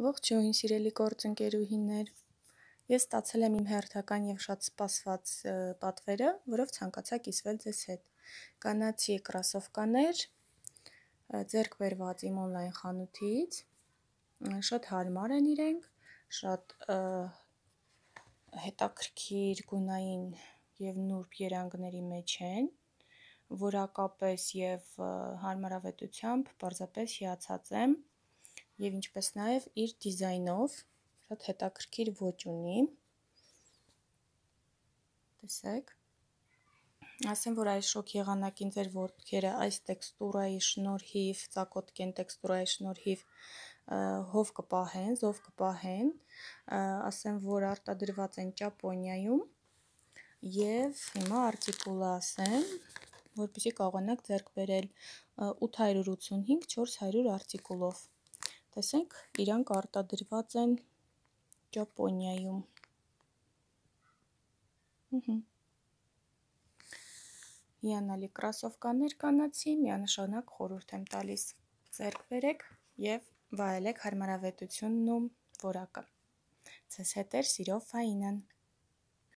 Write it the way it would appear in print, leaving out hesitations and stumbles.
Ողջույն, սիրելի գործընկերուհիներ, ես ստացել եմ իմ հերթական և շատ սպասված պատվերը, որով ցանկացա կիսվել ձեզ հետ։ Կանացի կրասովկաներ, ձեռք բերված իմ օնլայն խանութից, շատ հարմար են իրենք, շատ հետաքրքիր գունային և նուրբ երանգների մեջ են, որակապես և հարմարավետությամբ պարզապես հիացած եմ, և ինչպես նաև իր դիզայնով շատ հետաքրքիր ոճ ունի, տեսեք, ասեմ, որ այս շոգ եղանակին ձեր ոտքերը այս տեքստուրայի շնորհիվ, ծակոտկեն տեքստուրայի շնորհիվ հով կպահեն, զով կպահեն, ասեմ, որ արտադրված են Ճապոնիայում և հիմա արտիկուլը ասեմ, որպեսզի կարողանաք ձեռք բերել 885-400 արտիկուլով, տեսեք, իրանք արտադրված են Ճապոնիայում, հիանալի կրասովկաներ կանացի, միանշանակ խորհուրդ եմ տալիս, ձեռք բերեք և վայելեք հարմարավետությունն ու որակը, ձեզ հետ էր սիրով Ֆաինան։